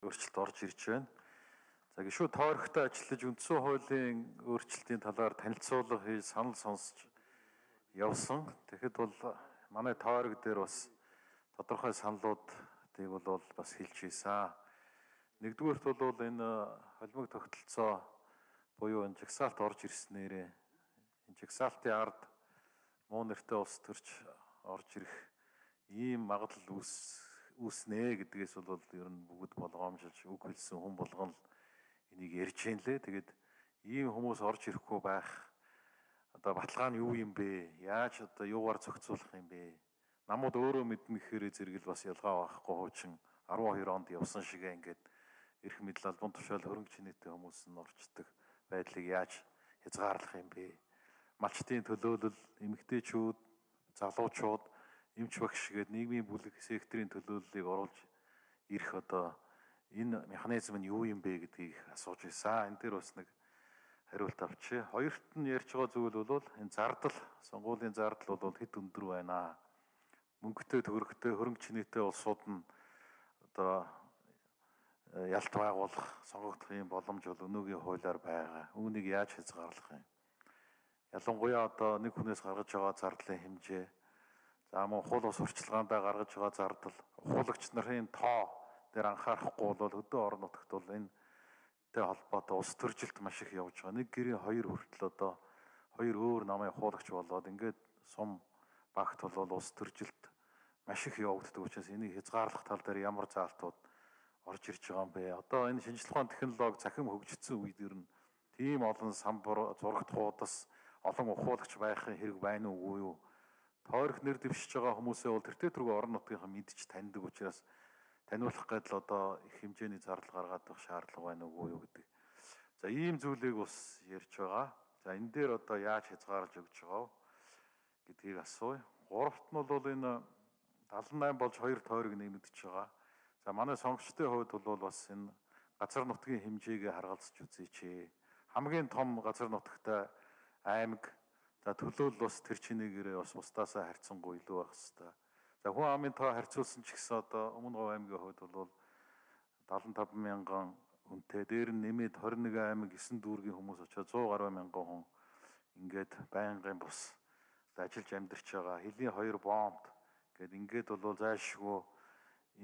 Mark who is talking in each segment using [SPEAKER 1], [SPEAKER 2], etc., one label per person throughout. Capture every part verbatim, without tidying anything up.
[SPEAKER 1] өөрчлөлт орж ирж байна. За гişүү тойрогтой ажиллаж үндсэн хуулийн өөрчлөлтийн талаар танилцуулга хийж санал сонсч явсан. Тэгэхэд бол манай тойрог дээр бас тодорхой саналуудыг бол бас хэлж ийсэн. Нэгдүгээрт бол энэ холимог тогтолцоо буюу энэ жагсаалт орж ирснээрээ энэ жагсаалтын ард муу нэртэй улс төрч орж ирэх ийм магадлал үүс үүснэ гэдгээс бол ер нь бүгд болгоомжилж үг хэлсэн хүн болгон энийг ярьж байна лээ. Тэгээд ийм хүмүүс орж ирэхгүй байх одоо баталгаа нь юу юм бэ? Яаж одоо юугаар зохицуулах юм бэ? Намууд өөрөө мэдмэхээр зэрэгэл бас ялгаа байхгүй хуучин арван хоёр онд явсан шигээ ингээд эрх мэдэл албан тушаал хөрөнгө чинээтэй хүмүүс нь орчдөг байдлыг яаж хязгаарлах юм бэ? Малчтын төлөөлөл, эмэгтэйчүүд, залуучууд, эмч багш гээд нийгмийн бүлэг секторын төлөөллийг оруулж ирэх одоо энэ механизм нь юу юм бэ гэдгийг асууж байсан. Энэ дээр бас нэг хариулт авчи. Хоёрт нь ярьж байгаа зүйл бол энэ зардал, сонгуулийн зардал бол хэд өндөр байна. Мөнгөтэй төгрөгтэй хөрөнгө чинээтэй улсууд нь одоо ялт байгуулах, сонгогдох юм боломж бол өнөөгийн хуулиар байгаа. Үүнийг яаж хязгаарлах юм? Ялангуяа одоо нэг хүнээс гаргаж байгаа зардлын хэмжээ, за мөн хууль бус сурчлагаандаа гаргаж байгаа зардал, ухуулагч нарын тоо дээр анхаарахгүй бол хөдөө орон нутагт бол энэтэй холбоотой улс төржилт маш их явж байгаа. Нэг гэрийн хоёр хүртэл одоо хоёр өөр намын ухуулагч болоод ингээд сум багт бол улс төржилт маш их явагддаг учраас энийг хязгаарлах тал дээр ямар заалтууд орж ирж байгаа юм бэ? Одоо энэ шинжлэх ухааны технологи цахим хөгжсөн үед ер нь тийм олон самбар, зурагт хуудас, олон ухуулагч байхын хэрэг байна уугүй юу? Тойрох нэр дэвшиж байгаа хүмүүсээ бол тэртээ түрүү орон нутгийнхаа мэдж таньдаг учраас таниулах гэдэл одоо их хэмжээний зардал гаргаад байх шаардлага байна уугүй юу гэдэг. За ийм зүйлийг бас ярьж байгаа. За энэ дээр одоо яаж хязгаарлаж өгч байгаа гэдгийг асууя. Гуравт нь бол энэ далан найм болж хоёр тойрог нэмэгдэж байгаа. За манай сонгогчдын хувьд бол бас энэ газар нутгийн хэмжээгээ харгалзаж үзээч. Хамгийн том газар нутагтай аймаг, за төлөөлөл бас тэр чинээгээрээ бас бусдаасаа харьцангуй илүү байх хэвээр. За хүн амын тоо харьцуулсан ч гэсэн одоо Өмнө Говь аймгийн хувьд бол седемдесет и пять мянган хүнтэй, дээр нь нэмээд двадцать один аймаг есөн дүүргийн хүмүүс очоод сто гаруй мянган хүн ингээд байнгын бус ажиллаж амьдарч байгаа. Хэлийн хоёр бомб гээд ингээд бол зайлшгүй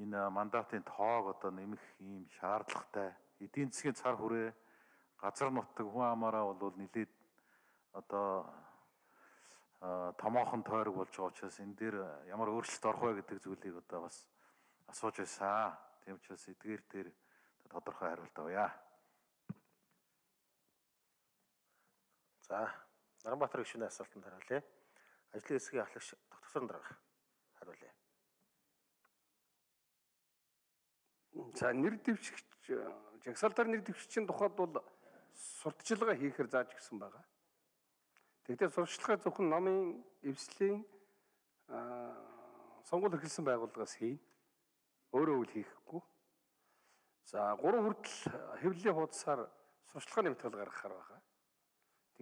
[SPEAKER 1] энэ мандатын тоог одоо нэмэх ийм шаардлагатай. Эдийн засгийн цар хүрээ, газар нутаг, хүн амаараа бол нэлээд одоо томоохон тойрог болж байгаа учраас энэ дээр ямар өөрчлөлт орох вэ гэдэг зүйлийг одоо бас асууж байсан. Тийм учраас эдгээр дээр тодорхой хариулт авъя.
[SPEAKER 2] За, Наранбаатар гишүүний асуултанд хариулъя. Ажлын хэсгийн ахлагч Доктор Дарга хариулъя.
[SPEAKER 3] За, нэр дэвшигч, жагсаалтаар нэр дэвшигчийн тухайд бол сурталчилгаа хийхээр зааж гисэн байгаа. Тэгвэл сурталчилгаа зөвхөн намын эвслийн сонгуул эрхэлсэн байгууллагаас хийн. Өөрөө үл хийхгүй. За гурван хүртэл хэвлэлийн хуудасаар сурталчилгааны материал гаргахаар байгаа.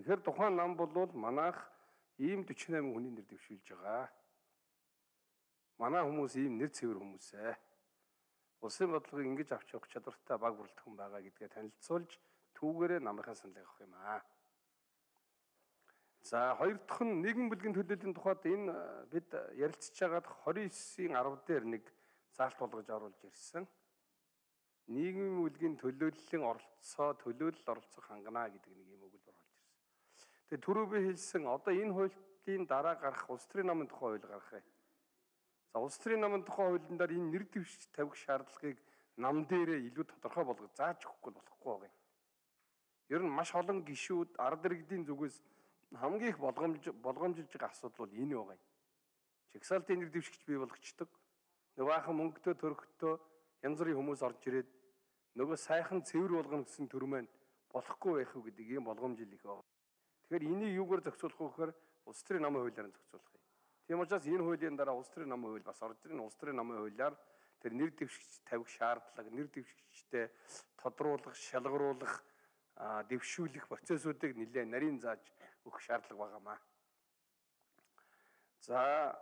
[SPEAKER 3] Тэгэхээр тухайн нам бол манайх ийм forty-eight хүний нэр дэвшүүлж байгаа. Манай хүмүүс ийм нэр цэвэр хүмүүс ээ. Улсын бодлогыг ингэж авч явах чадвартай баг бүрэлдэхүүн байгаа гэдгээ танилцуулж түүгээрээ намынхаа саналыг авах юм аа. За хоёр дахь нь нийгмийн бүлгийн төлөөллийн тухайд энэ бид ярилцж байгаад twenty-nine-ийн ten дээр нэг заалт болгож оруулж ирсэн. Нийгмийн бүлгийн төлөөллийн оролцоо, төлөөлөл оролцох хангана гэдэг нэг юм өгүүлбэр болж ирсэн. Тэгээ түрүү би хэлсэн одоо энэ хуулийн дараа гарах улс төрийн намын тухай хууль гаргах юм. За улс төрийн намын тухай хуулийн дээр энэ нэр дэвшиж тавих шаардлагыг нам дээрээ илүү тодорхой болгож зааж өгөхгүй болохгүй байгаа юм. Ер нь маш олон гишүүд ард иргэдийн зүгээс хамгийн их болгоомж болгоомжилж байгаа асуудал бол энэ байгаа юм. Жагсаалтын нэр дэвшигч бий болгочдөг. Нөгөө баахан мөнгөтэй төрхтөө янз бүрийн хүмүүс орж ирээд нөгөө сайхан цэвэр болгоно гэсэн төр маань болохгүй байх уу гэдэг ийм болгоомжил их байна. Тэгэхээр энийг юугаар зохицуулах вэ гэхээр улс төрийн намын хуулиар нь зохицуулах юм. Тийм учраас энэ хуулийн дараа улс төрийн намын хууль бас орж ирнэ. Улс төрийн намын хуулиар тэр нэр дэвшигч тавих шаардлага, нэр дэвшигчтэй тодруулах, шалгаруулах, дэвшүүлэх процессуудыг нэлээд нарийн зааж өгөх шаардлага байгаамаа. За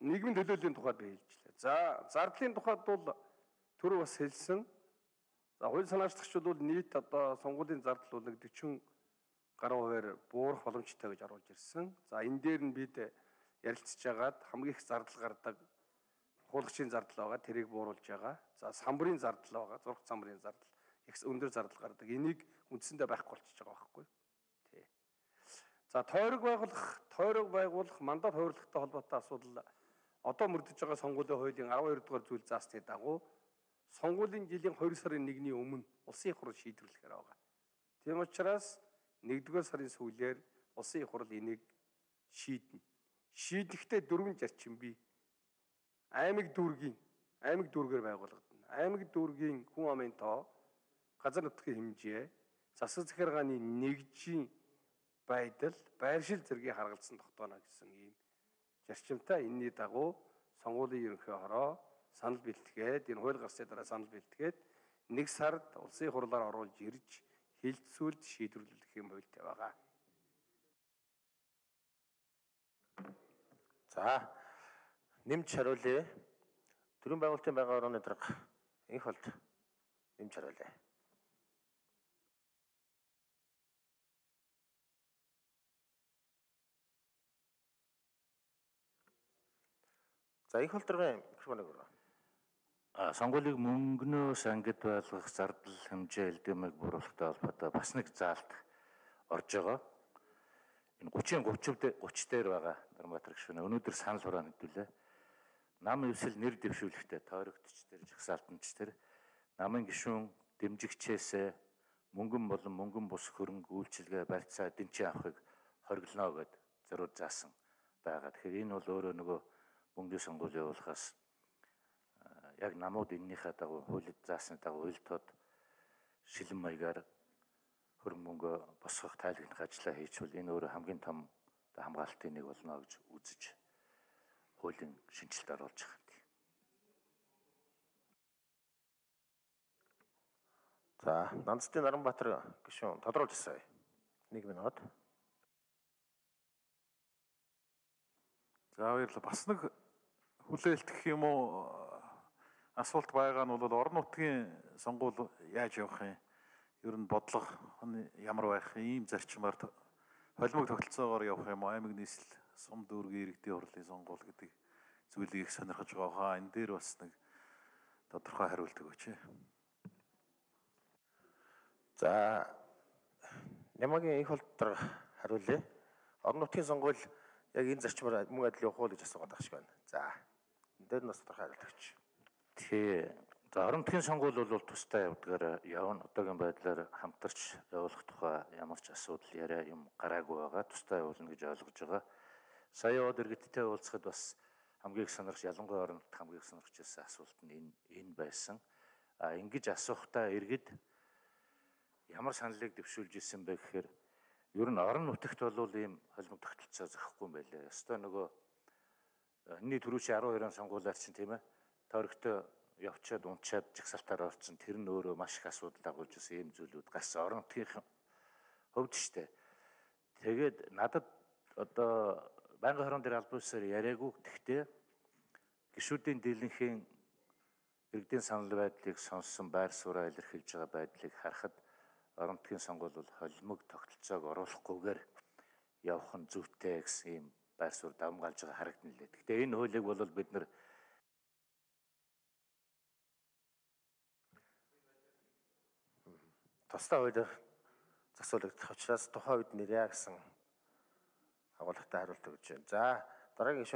[SPEAKER 3] нийгмийн төлөөллийн тухайд би хэлжлээ. За зардлын тухайд бол түрүү бас хэлсэн За хууль санаачлагчид бол нийт одоо сонгуулийн зардал бол нэг forty гаруй хувиар буурах боломжтой гэж оруулж ирсэн. За энэ дээр нь бид ярилцж байгаад хамгийн их зардал гардаг хуулагчийн зардал байгаа, тэрийг бууруулж байгаа. За самбарын зардал байгаа, зураг самбарын зардал, их өндөр зардал гардаг. Энийг үндсэндээ байхгүй болчихж байгаа байхгүй. Тий. За тойрог байгуулах, тойрог байгуулах мандат хувирлагтай холбоотой асуудал одоо мөрдөж байгаа сонгуулийн хуулийн twelve дугаар зүйл заасны дагуу сонгуулийн жилийн two сарын нэгний өмнө улсын их хурл шийдвэрлэхээр байгаа. Тийм учраас нэгдүгээр сарын сүүлээр улсын их хурл энийг шийднэ. Шийдэхдээ дөрвөн зарчим бий. Аймаг дүүргийн аймаг дүүргээр байгуулагдана. Аймаг дүүргийн хүн амын тоо, газар нутгийн хэмжээ, засаг захиргааны нэгжийн байдал, байршил зэргийг харгалзан тогтооно гэсэн ийм зарчимтай. Энэний дагуу сонгуулийн ерөнхий хороо санал бэлтгээд, энэ хууль гарсны дараа санал бэлтгээд нэг сард улсын хурлаар оруулж ирж хилцүүлж шийдвэрлэх юм байлтай байгаа.
[SPEAKER 2] За нэмж хариулъя. Төрийн байгуулалтын байнгын орооны дарга инх болд нэмж хариулъя. За инх болдрын микрофоныг өргөө.
[SPEAKER 4] А сонгуулийг мөнгнөөс ангид байлгах зардал хэмжээ элдэмэг буруулахтай холбоотой бас нэг заалт орж байгаа. Энэ thirty thirty дээр байгаа Нарбаатар гишүүн өнөөдөр санал хураана хэдүүлээ. Нам өвсөл нэр дэвшүүлэхтэй тойрогдч тэр жагсаалтанч тэр намын гишүүн дэмжигчээсээ мөнгөн болон мөнгөн бус хөрөнгө үйлчилгээ барьцаа эдэнчийн авахыг хориглоно гэд зориуд заасан байгаа. Тэгэхээр энэ бол өөрөө нөгөө мөнгөний сонгуул явуулахаас яг намууд эннийхээ дагуу хуулид заасны дагуу уйлтод шилэн маягаар хөрөнгө мөнгө босгох тайлагнах ажлаа хийчихвэл энэ өөрөө хамгийн том хамгаалтын нэг болно гэж үзэж хуулийн шинжилт оруулж байгаа юм.
[SPEAKER 2] За Нандстын Наранбаатар гишүүн тодруулж асууя. Нэг минут.
[SPEAKER 1] За баярлалаа. Бас нэг хүлээлт гэх юм уу асуулт байгаа нь бол орон нутгийн сонгуул яаж явах юм? Ер нь бодлого ямар байх ийм зарчмаар холимог тогтолцоогоор явах юм уу? Аймаг нийслэл сум дүүргийн иргэдийн хурлын сонгуул гэдэг зүйлийг их сонирхож байгаа хаа. Энэ дээр бас нэг тодорхой хариулт өгөөч.
[SPEAKER 2] За Нямагийн инх болд хариулъя. Орон нутгийн сонгуул яг энэ зарчмаар мөн адил явах уу гэж асуугаад байгаа шиг байна. За энэ дээр нь бас тодорхой хариулт өгч.
[SPEAKER 4] Тэгээ за орон нутгийн сонгуул бол тусдаа явдгаар явна. Одоогийн байдлаар хамтарч явуулах тухай ямар ч асуудал яриа юм гараагүй байгаа. Тусдаа явуулна гэж ойлгож байгаа. Сая яваад иргэдтэй уулзахад бас хамгийн их сонирхож ялангуяа орон нутгийн хамгийн их сонирхож байсан асуулт нь энэ энэ байсан. А ингэж асуухтаа иргэд ямар саналыг дэвшүүлж ирсэн бэ гэхээр ер нь орон нутагт бол ийм холимог тогтолцоо зохихгүй юм байлээ. Ёстой нөгөө энэний түрүүчийн twelve он сонгуулиар чинь тийм ээ тойрогтой явчаад унчаад жагсаалтаар орсон тэр нь өөрөө маш их асуудал дагуулж ирсэн ийм зүйлүүд гарсан орон нутгийн хувьд штэ. Тэгээд надад одоо байнгын хорон дээр албан ёсоор яриаггүй. Гэхдээ гишүүдийн дийлэнхийн иргэдийн санал байдлыг сонссон байр сууриа илэрхийлж байгаа байдлыг харахад орон нутгийн сонгуул бол холимог тогтолцоог оруулахгүйгээр явах нь зүйтэй гэсэн ийм байр суурь давмгаалж байгаа харагдана лээ. Гэхдээ энэ хуулийг бол бид нар
[SPEAKER 2] тусдаа хуулиар засварлагдах учраас тухайн үед нэрээ гэсэн агуулгатай хариулт өгч байна. За дараагийн